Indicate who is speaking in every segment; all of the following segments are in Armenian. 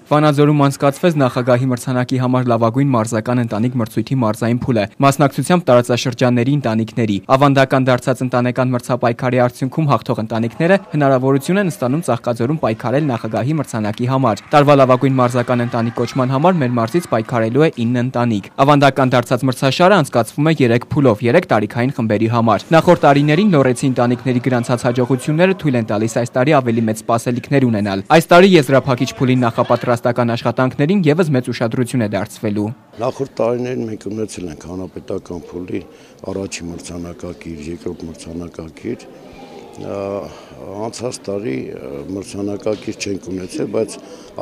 Speaker 1: Վանաձորում անցկացվեց նախագահի մրցանակի համար լավագույն մարզական ընտանիք մրցույթի մարզային փուլը, մասնակցությամբ տարածաշրջանների ընտանիքների։ Ավանդական դարձած ընտանեկան մրցապայքարի արդյունքում հաղթող ընտանիքները հնարավորություն են ստանում Ծաղկաձորում պայքարել նախագահի մրցանակի համար։ Տարվա լավագույն մարզական ընտանիք կոչման համար մեր մարզից պայքարելու է 9 ընտանիք։ Ավանդական դարձած մրցաշարը անցկացվում է 3 փուլով, 3 տարիքային խմբերի համար։ Նախորդ տարիներին նորեցի ընտանիքների գրանցած հաջողությունները թույլ են տալիս այս տարի ավելի մեծ սպասելիքներ ունենալ։ Այս տարի եզրափակիչ փուլին նախապատրաստական աշխատանքներին ևս մեծ ուշադրություն է դարձվելու։
Speaker 2: Նախորդ տարիներին մենք ունեցել ենք հանրապետական փուլի առաջին մրցանակակիր, երկրորդ մրցանակակիր, անցած տարի մրցանակակիր չենք ունեցել, բայց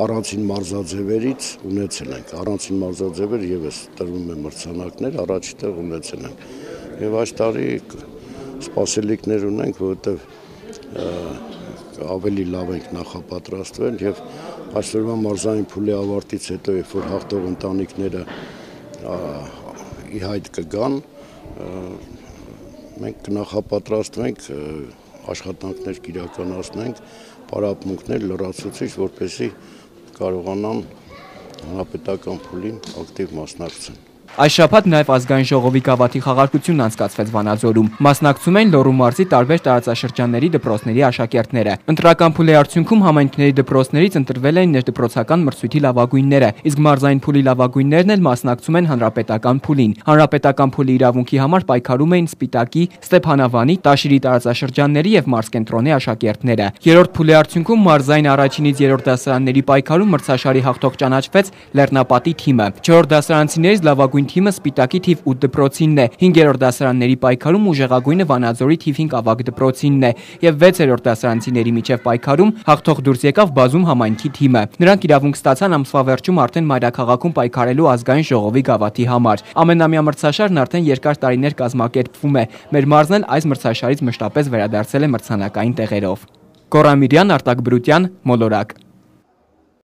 Speaker 2: առանցին մարզաձևերից ունեցել ենք, առանցին մարզաձևեր ևս տրվում է մրցանակներ, առաջի տեղ ունեցել ենք, եւ այս տարի սպասելիքներ ունենք, որովհետեւ ավելի լավ ենք նախապատրաստվել եւ այսօրվա մարզային փուլի ավարտից հետո, երբ որ հաղթող ընտանիքները ի հայտ կգան, մենք կնախապատրաստվենք, աշխատանքներ կիրականացնենք, պարապմունքներ լրացուցիչ, որպեսզի կարողանան հանրապետական փուլին ակտիվ մասնակցեն։
Speaker 1: Այս շաբաթ նաև ազգային ժողովի գավաթի խաղարկությունն անցկացվեց Վանաձորում։ Մասնակցում էին Լոռու մարզի տարբեր տարածաշրջանների դպրոցների աշակերտները։ Ընտրական փուլի արդյունքում համայնքների դպրոցներից ընտրվել էին ներդպրոցական մրցույթի լավագույնները, իսկ մարզային փուլի լավագույններն էլ մասնակցում են հանրապետական փուլին։ Հանրապետական փուլի իրավունքի համար պայքարում էին Սպիտակի, Ստեփանավանի, Տաշիրի տարածաշրջանների եւ մարզկենտրոնի աշակերտները։ Երրորդ փուլի արդյունքում մարզային առաջինից երրորդ դասարանների պայքարում մրցաշարի հաղթող ճանաչվեց Լեռնապատի թիմը։ Չորրորդ դասարանցիներից լավագույն թիմը Սպիտակի թիվ 8 դպրոցինն է, 5-րդ դասարանների պայքարում ուժեղագույնը Վանաձորի թիվ 5 ավագ դպրոցինն է եւ 6-րդ դասարանցիների միջև պայքարում հաղթող դուրս եկավ Բազում համայնքի թիմը։ Նրանք իրավունք ստացան ամսվա վերջում արդեն մայրաքաղաքում պայքարելու ազգային ժողովի գավաթի համար։ Ամենամյա մրցաշարն արդեն երկար տարիներ կազմակերպվում է։ Մեր մարզն էլ այս մրցաշարից մշտապես վերադարձել է մրցանակային տեղերով։ Գոռամիրյան, Արտակ Բրուտյան, Մոլորակ։